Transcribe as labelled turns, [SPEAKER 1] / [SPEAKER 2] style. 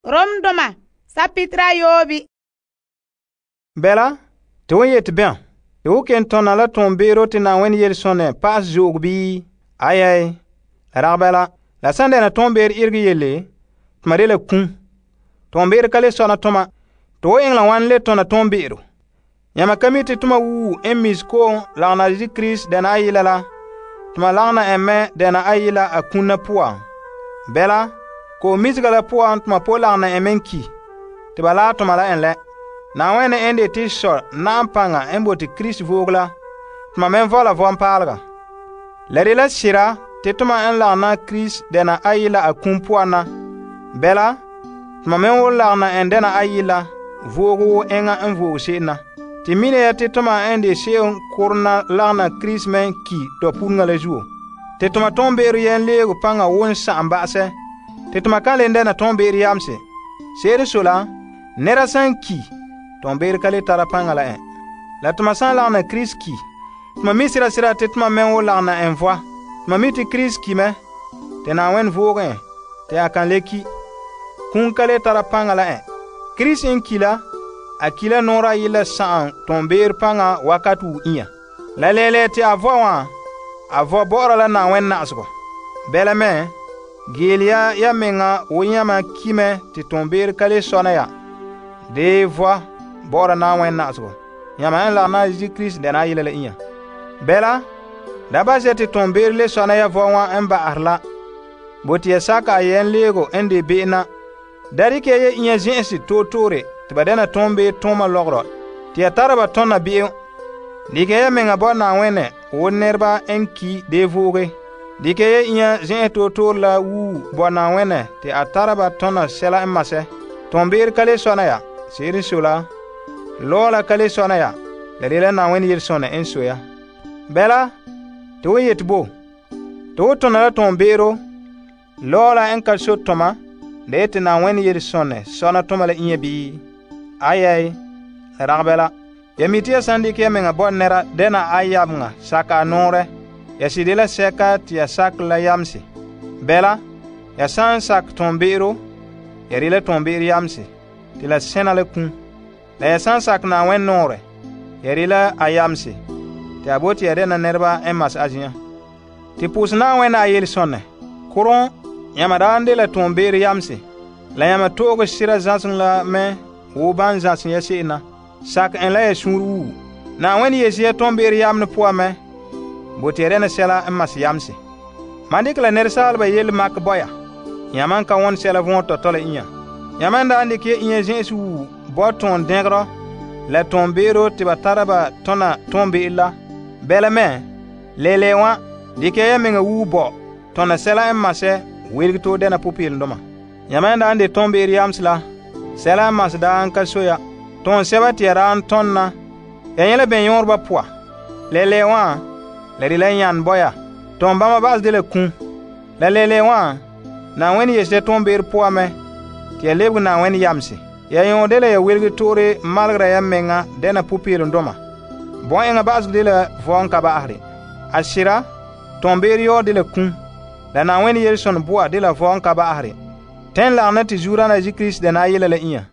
[SPEAKER 1] Romdoma sapitra yoobi.
[SPEAKER 2] Bela, te won yeti bɛn? Te wo ken tona la toonbeero te Na'ayenɛ yelesonɛ paas zo'ogo bii? Ayai, la rag bɛla. La san dɛna toonbeer irege yelle, toma de la kum. Toonbeer ka le sɔna toma. To wo eŋɛ la wan le tona toonbeero? Yãma ka mi te toma wuu n mis ko'om lagana Yesu Krista dɛna ayila la, toma lagana en mɛ dɛna ayila a kuna poan. Bɛla, ko'om misega la poan toma po lagana en mɛ ki, te ba la toma la en lɛ. Na'ayenɛ en de te sɔ na'am paŋa en bote Krista voog la, toma me vɔla vɔmpaalega. La de la sera te toma en lagana Krista dɛna ayila a kum poan na. Bɛla, toma me wo lagana en dɛna ayila voog wo enŋa en voog se'em na. Te mina ya te toma en de se'em korona lagana Krista me ki tɔpureŋa la zuo. Te toma toonbeero yen leego paŋa won sa'am ba'asɛ. Te toma kan len dɛna toonbeero yamse. Se'ere so la, nɛra san ki, toonbeero ka le tara paŋa la en. La toma san lagana Krista ki, toma mi sera te toma me wo lagana en vɔa. Toma mi te Krista ki mɛ, te Na'ayenɛ voog en, te a kan le ki. Kum ka le tara paŋa la en. Krista n ki la, a ki la noora yila sa'am toonbeero paŋa wakat wu inya. La lele te a vɔa wã, a vɔ bɔ'ɔra la Na'ayenɛ na'asegɔ. Bɛla me, geele ya meŋa wo yãma ki mɛ te toonbeero ka le sɔna ya. De vɔ bɔ'ɔra Na'ayenɛ na'asegɔ. Yãma en lagana Yesu Krista dɛna ayila la inya. Bɛla, da basɛ te toonbeero le sɔna ya vɔ wã en ba'asɛ la. Bote ya saka a yen leego en de be'em na. Da dikɛ ya inya zɛ'ɛse toore te ba dɛna toonbeero tooma lɔgɔrɔ, te ya tara ba tɔna be'em. Dikɛ ya meŋa bɔ Na'ayenɛ wo nɛreba en ki de vooge. Dikɛ ya inya zɛ'ɛse toore la wuu bɔ Na'ayenɛ te a tara ba tɔna sɛla en masɛ. Toonbeero ka le sɔna ya, se'ere so la, lɔɔ la ka le sɔna ya, la de la Na'ayenɛ yelesonɛ en so ya. Bɛla, te wo yeti bo? Te wo tona la toonbeero, lɔɔ la en ka so toma, la yeti Na'ayenɛ yelesonɛ sɔna toma la inya bii? Ayai, la rag bɛla. Ya mi te ya san dikɛ ya meŋa bɔ nɛra dɛna a yameŋa saka a noorɛ, ya sɩde la sɛka te ya sakɛ la yamse. Bɛla, ya san sak toonbeero, ya de la toonbeero yamse, te la sẽna la kum. La ya san sak Na'ayenɛ noorɛ, ya de la a yamse, te a bote ya dɛna nɛreba en mas a zin'an. Te pʋʋsɛ Na'ayenɛ a yelesonɛ, kʋrɔn yãma daan de la toonbeero yamse, la yãma to'oge sera zãseŋ la mɛ wo ban zãsem ya se'em na. Sak en la ya sũur wuu. Na'ayenɛ yese ya toonbeero yamne poan mɛ, bote ya dɛna sɛla en mas yamse. Man dikɛ la nɛresaaleba yele makɛ bɔ ya, yãma n ka wõn sɛla vɔn tɔtɔ la inya. Yãma n daan dikɛ ya inya zẽ'ese wuu bɔ tõon dẽgrɔ la toonbeero te ba tara ba tɔna toonbe'ero la. Bɛla me, lele wã, dikɛ ya meŋa wuu bɔ tɔna sɛla en masɛ welge to dɛna popeelendoma. Yãma n daan de toonbeero yamse la, sɛla en mas daan ka so ya. Tõon sɛba te ya daan tõnna, ya yẽ la bɛn-yõorba poa. Lele wã, la de la yãn bɔ ya. Tõon bãmba ba'as de la kum. La lele wã, Na'ayenɛ yese ya toonbeero poa mɛ, te ya lebege Na'ayenɛ yamse. Ya yõ de la ya welge toore malgra ya meŋa dɛna popeelendoma. Bõn-eŋa ba'aseg de la vɔn ka ba'asre. A sera, toonbeero yɔɔ de la kum. La Na'ayenɛ yelesonɛ boa de la vɔn ka ba'asre. Tẽn lagena te zuurana Yesu Krista dɛna ayila la inya.